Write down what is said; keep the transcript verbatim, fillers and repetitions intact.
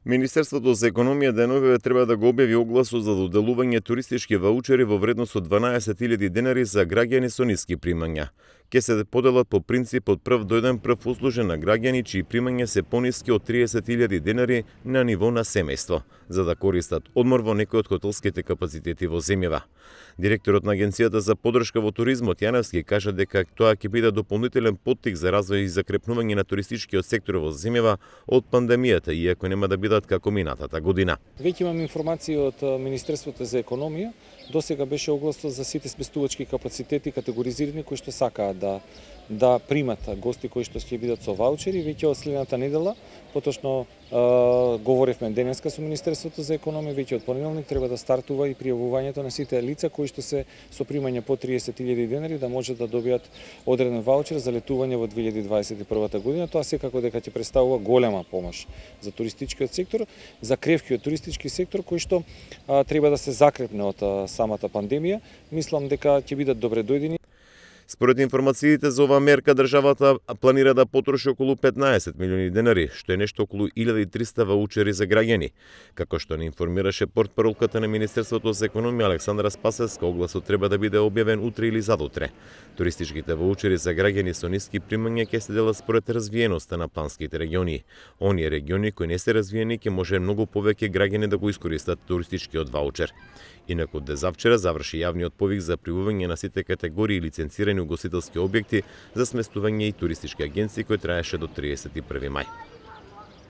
Министерството за економија деновиве треба да го објави огласот за доделување туристички ваучери во вредност од дванаесет илјади денари за граѓани со ниски примања. Ке се поделат по принцип од прв дојден прв услужен на граѓани чии примања се пониски од триесет илјади денари на ниво на семејство, за да користат одмор во некои од хотелските капацитети во земјава. Директорот на Агенцијата за поддршка во туризмот Јаневски кажа дека тоа ќе биде дополнителен поттик за развој и закрепнување на туристичкиот сектор во земјава од пандемијата, иако нема да бидат како минатата година. Веќе имам информации од Министерството за економија. Досега беше огласот за сите сместувачки капацитети категоризирани кои што сакаат да да примат гости кои што ќе бидат со ваучери. Веќе од следната недела, поточно е, говоревме денеска со Министерството за економија, веќе од понеделник треба да стартува и пријавувањето на сите лица кои што се со примање по триесет илјади денари да можат да добијат одреден ваучер за летување во две илјади дваесет и прва година. Тоа секако дека ќе представува голема помош за туристичкиот сектор, за кревкиот туристички сектор кој што а, треба да се закрепне од а, самата пандемија. Мислам дека ќе бидат добре дојдени. Според информациите за оваа мерка, државата планира да потроши околу петнаесет милиони денари, што е нешто околу илјада и триста ваучери за граѓани. Како што не информираше портпаролката на Министерството за економија Александра Спасевска, огласот треба да биде објавен утре или задутре. Туристичките ваучери за граѓани со ниски примања ќе се делат според развиеноста на планските региони. Оние региони кои не се развиени ќе може многу повеќе граѓани да го искористат туристичкиот ваучер. Инаку дезавчера заврши јавниот повик за пријавување на сите категории лиценцирани угостителски објекти за сместување и туристички агенции кој траеше до триесет и први мај.